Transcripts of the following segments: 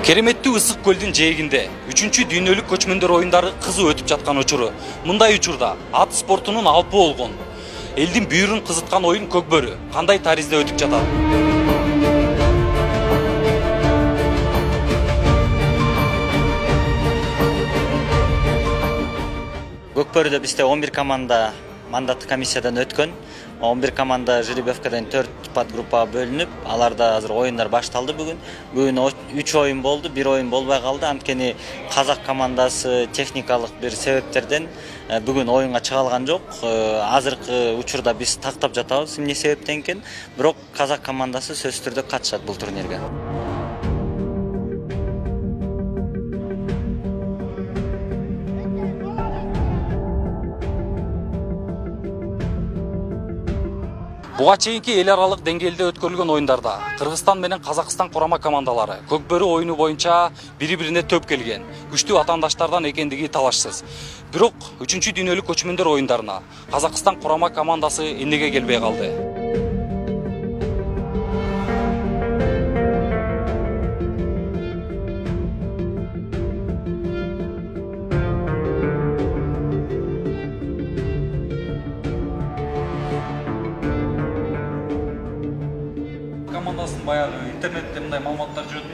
Кереметтүү ысык көлдүн жээгинде 3-дүйнөлүк көчмөндөр оюндары кызуу өтүп жаткан учуру. Мындай учурда ат спортунун алпы болгон элдин бүйүрүн кызыткан оюн көкбөрү кандай таризде өтүп жатат? Көкбөрүдө бизде 11 команда мандаттык комиссиядан өткөн. 11 команда жеребьевкадан 4 подгруппага бөлүнүп, аларда азыр оюндар башталды бүгүн. Бүгүн 3 оюн болду, 1 оюн болбой калды. Анткени казак командасы техникалык бир себептерден бүгүн оюнга чыга алган жок. Азыркы учурда биз тактап жатабыз, эмне себептен экен. Бирок казак командасы сөзсүз түрдө катышат бул турнирге. Буга чейинки эл аралык деңгээлде өткөрүлгөн оюндарда Кыргызстан менен Казакстан курама командалары көкбөрү оюну боюнча бири-бирине төп келген, күчтүү атаандаштардан экендиги талашсыз. Бирок 3-дүйнөлүк көчмөндөр оюндарына Казакстан курама командасы эмнеге келбей калды? Командасын баягы интернетте мындай маалыматтар жүрөт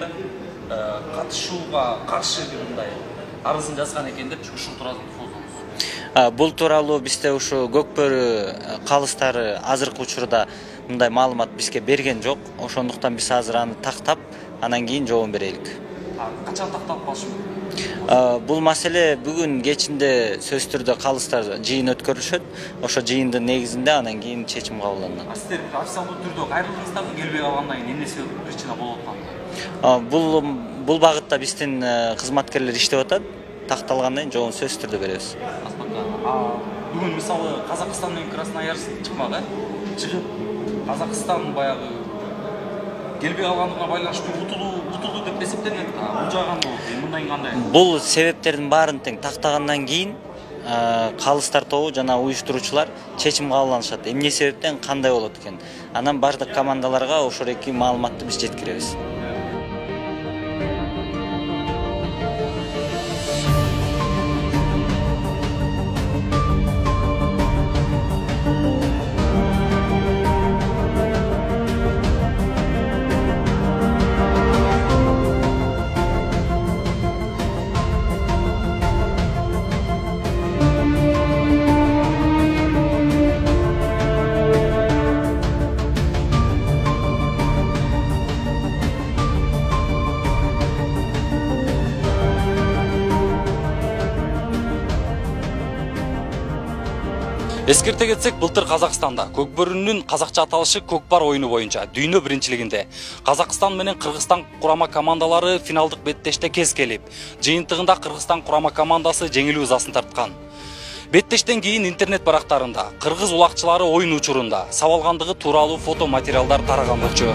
да, катышууга каршы бир мындай арызын жазган экен деп ушул тууралуу созобуз. Бул тууралуу бизде ушу көкбөрү калыстары азыркы учурда мындай маалымат бизге берген жок. Ошондуктан биз азыр аны тактап, анан кийин жообун берелик. Качан такталып калышы мүмкүн? Бул маселе бүгүн кечинде сөзсүз түрдө калыстар жыйын өткөрүлүшөт. Ошо жыйындын негизинде анан кийин чечим кабылданат. Сиздер официалдуу түрдө кайрылдыңыздарбы, келбей калгандан кийин эмне себеп причина болуп атканын? Бул багытта биздин кызматкерлер иштеп атат. Такталгандан кийин жообун сөзсүз түрдө беребиз. Бүгүн мисалы Казакстан менен Красноярск чыкмак, чыгып Казакстан баягы келбей калгандыгына байланыштуу утулду деп эсептелет. Бул жаган мындай кандай? Бул себептердин баарын тең тактагандан кийин калыстар тобу жана уюштуруучулар чечим кабылданышат. Эмне себептен кандай болот экен? Анан бардык командаларга ошол эки маалыматты биз жеткиребиз. Эскерте кетсек, былтыр Казакстанда көкбөрүнүн казакча аталышы көкпар оюну боюнча дүйнө биринчилигинде Казакстан менен Кыргызстан курама командалары финалдык беттеште кез келип, жыйынтыгында Кыргызстан курама командасы жеңилүү ызасын тарткан. Беттештен кийин интернет барактарында кыргыз улакчылары оюн учурунда сабалгандыгы тууралуу фото материалдар тараган болчу.